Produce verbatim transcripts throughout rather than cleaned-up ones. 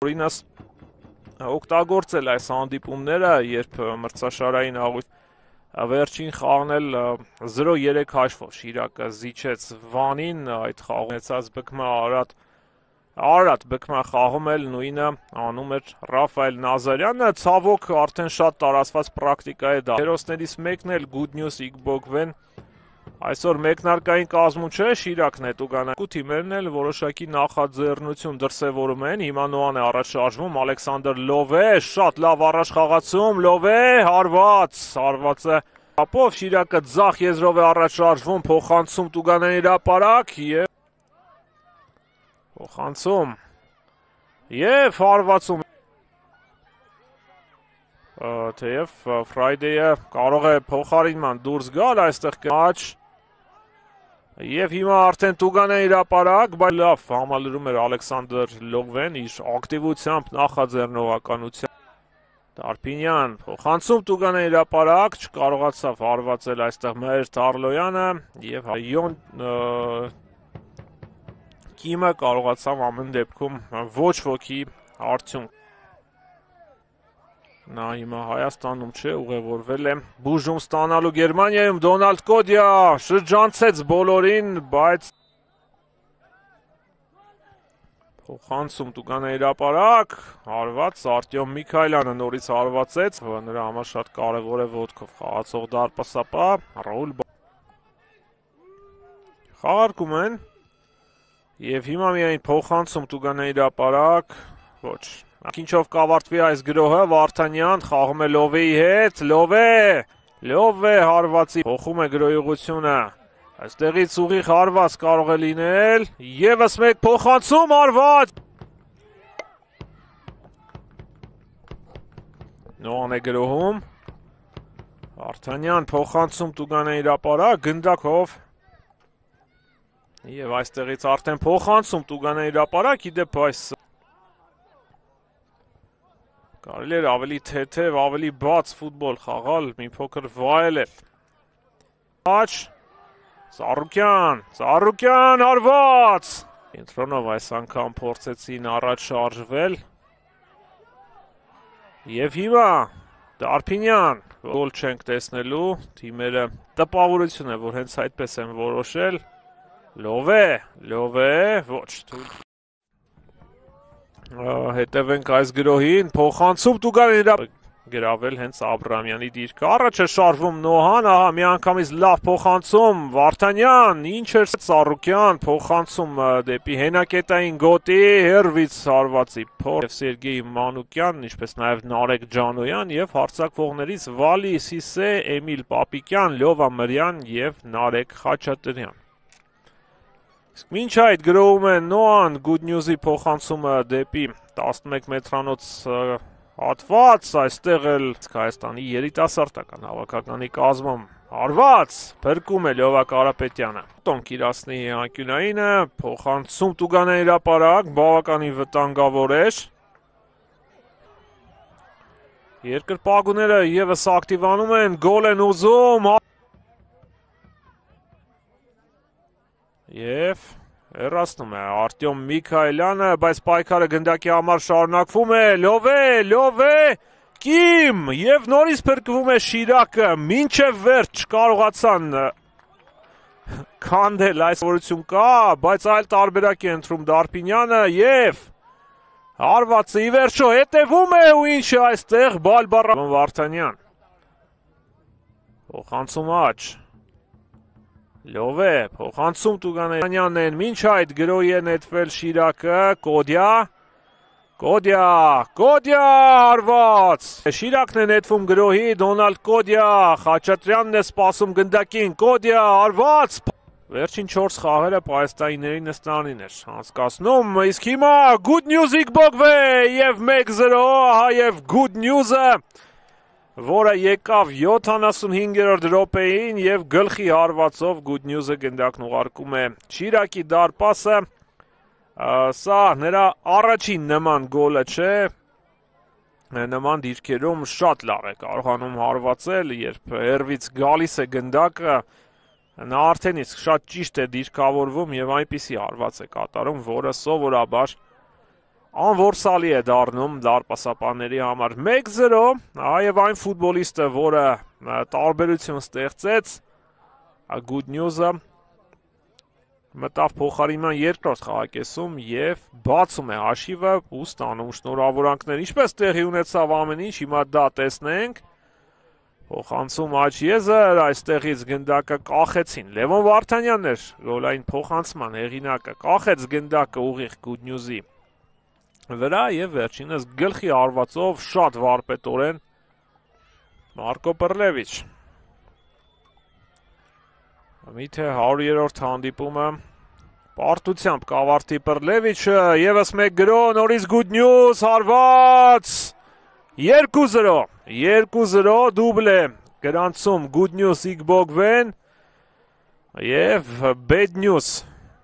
Օրինս օգտագործել այս հանդիպումները, երբ մրցաշարային աղույթ վերջին խաղն էլ զրո երեք հաշվով Շիրակը զիջեց Վանին, այդ խաղում ունեցած բկմա Արարատ Արարատ բկմա խաղում էլ նույնը անում էր Ռաֆայել Նազարյանը, ցավոք արդեն շատ տարածված պրակտիկա է դա։ Հերոսներից մեկն էլ Good News Իգբոգվեն այսօր մեկնարկային կազմում չէ, Շիրակն է տուգանա։ Ու թիմերն էլ որոշակի նախաձեռնություն դրսևորում են, հիմա Նոան է առաջ շարժվում, Ալեքսանդր Լովե, շատ լավ առաջ խաղացում, Լովե, հարված, հարված է ապով, Շիրակը ձախ եզրով է առաջ շարժվում, փոխանցում տուգանային հրապարակ և փոխանցում և հարվածում թեև Ֆրայդեյը կարող է փոխարինման դուրս գալ այստեղ կաչ և հիմա արդեն տուգանային հրապարակ, բայց լավ համալրում էր Ալեքսանդր Լովեն իր ակտիվությամբ նախաձեռնողականությամբ Տարփինյան փոխանցում տուգանային հրապարակ, չկարողացավ հարվածել այստեղ Մհեր Թարլոյանը և Յոն Կիմը կարողացավ ամեն դեպքում ոչ ոքի արդյունք Նա հիմա Հայաստանում չէ, ուղևորվել է բուժում ստանալու Գերմանիայում, Դոնալդ Կոդյա շրջանցեց բոլորին, բայց փոխանցում տուգանային հրապարակ, հարված Արտյոմ Միքայելյանը նորից հարվածեց, նրա համար շատ կարևոր է ոտքով խաղացող դարպասապահ, Ռաուլ խաղարկում են և հիմա միայն փոխանցում տուգանային հրապարակ, ոչ Ինչով կավարտվի այս գրոհը, Վարդանյան խաղում է Լովեի հետ, Լովե, Լովե հարվածի, փոխում է գրոյողությունը, այստեղից ուղիղ հարված կարող է լինել, ևս մեկ փոխանցում հարված, Նոան է գրոհում, Վարդանյան փոխանցում տուգանային հրապարակ, գնդակով, և այստեղից արդեն փոխանցում տուգանային հրապարակ, իդեպ այս Կարելի էր ավելի թեթև, ավելի բաց ֆուտբոլ խաղալ, մի փոքր վայելել։ Աչ, Ծառուկյան, Ծառուկյան հարված։ Կենտրոնով այս անգամ փորձեցին առաջ շարժվել։ Եվ հիմա Տարփինյան, գոլ չենք տեսնելու, թիմերը տպավորություն է, որ հենց այդպես են որոշել։ Լովե, Լովե, ոչ, թույլ Հետևենք այս գրոհին, փոխանցում տուգանային հրապարակ գրավել հենց Աբրամյանի դիրքը, առաջ է շարժվում Նոհան, ահա միանգամից լավ փոխանցում, Վարդանյան, ինչ էր Ծառուկյան, փոխանցում դեպի հենակետային գոտի, հերվից հարվածի փոր, և Սերգեյ Մանուկյանն, ինչպես նաև Նարեկ Ջանոյան և հարձակվողներից Վալի Սիսե, Էմիլ Պապիկյան, Լյովա Մրյան և Նարեկ Խաչատրյան։ Իսկ մինչ այդ գրոհում է Նոան Good News-ի փոխանցումը դեպի տասնմեկ մետրանոց հատված, այստեղ էլ Հայաստանի երիտասարդական հավաքականի կազմում հարված, փրկում է Լյովա Կարապետյանը։ Տոն Կիրասնի անկյունայինը, փոխանցում տուգանային հրապարակ, բավականին վտանգավոր էր։ Երկրպագուները ևս ակտիվանում են, գոլ են ուզում, Եվ հեռացնում է Արտյոմ Միքայելյանը, բայց պայքարը գնդակի համար շարունակվում է, Լովե, Լովե, Կիմ, և նորից փրկվում է Շիրակը, մինչև վերջ չկարողացան քանդել այս որություն կա, բայց այլ տարբերակ է ընտրում Դարփինյանը և հարվածը ի վերջո հետևում է ու ինչ է այստեղ Բալբարա Վարդանյան։ Փոխանցում աչ։ Լովե, փոխանցում Տուգանյանն են, մինչ այդ գրոհի է նետվել Շիրակը, Կոդյա, Կոդյա, Կոդյա հարված, Շիրակն է նետվում գրոհի, Դոնալդ Կոդյա, Խաչատրյանն է սպասում գնդակին, Կոդյա հարված, վերջին չորս խաղերը պայստայինների նստարանին էր անցկացնում, իսկ հիմա Good News Իգբոգվե և մեկ զրո, ահա և Good News-ը, որը եկավ յոթանասունհինգերորդ րոպեին և գլխի հարվածով Good News-ը գնդակն ուղարկում է Շիրակի դարպասը, սա նրա առաջին նման գոլը չէ, նման դիրքերում շատ լավ է կարողանում հարվածել, երբ հեռվից գալիս է գնդակը, նա արդեն իսկ շատ ճիշտ է դիրքավորվում և այնպիսի հարված է կատարում, որը սովորաբար անորսալի է դառնում դարպասապանների համար մեկ զրո, այև այն ֆուտբոլիստը, որը տարբերություն ստեղծեց, good news-ը, մտավ փոխարինման երկրորդ խաղակեսում եւ բացում է հաշիվը ու ստանում շնորհավորանքներ, ինչպես տեղի ունեցավ ամեն ինչ, հիմա դա տեսնենք, փոխանցում աջ եզր, այստեղից գնդակը կախեցին, Լևոն Վարդանյանն էր գոլային փոխանցման հեղինակը, կախեց գնդակը ուղիղ good news-ի վրա եւ վերջինս գլխի արվածով շատ վարպետորեն Մարկո Պռլևիչ։ Միթե հարյուրերորդ հանդիպումը պարտությամբ կավարտի Պռլևիչը, եւս մեկ գրո, նորից good news, հարված երկու զրո, երկու զրո դուբլ է գրանցում good news Իգբոգվեն եւ bad news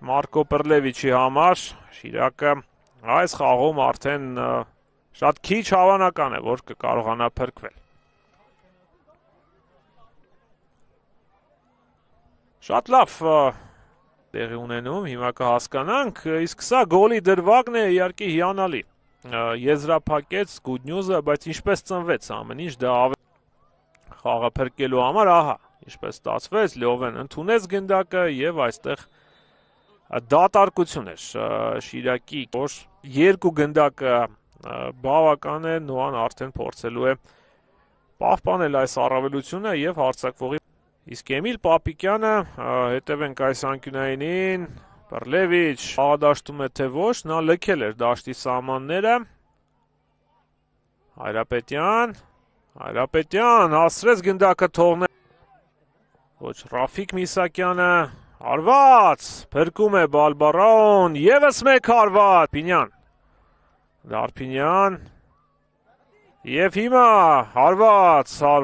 Մարկո Պռլևիչի համար, Շիրակը այս խաղում արդեն շատ քիչ հավանական է, որ կկարողանա փրկվել։ Շատ լավ տեղի ունենում, հիմա կհասկանանք, իսկ սա գոլի դրվագն է իհարկե հիանալի։ Եզրափակեց good news-ը, բայց ինչպես ծնվեց ամեն ինչ, դա ավելի խաղը փրկելու համար, ահա, ինչպես ստացվեց, Լյովեն ընդունեց գնդակը եւ այստեղ դատարկություն էր Շիրակի, որ երկու գնդակը բավական է, Նոան արդեն փորձելու է պահպանել այս առավելությունը եւ հարձակվողի։ Իսկ Էմիլ Պապիկյանը, հետևենք այս անկյունայինին, Պռլևիչ խաղադաշտում է թե ոչ, նա լքել էր դաշտի սահմանները։ Հայրապետյան, Հայրապետյան հասցրեց գնդակը թողնել։ Ոչ Ռաֆիկ Միսակյանը Հարված, փրկում է Բալբարոն, եւս մեկ հարված, Պինյան, Դարփինյան, եւ հիմա հարված, հարված,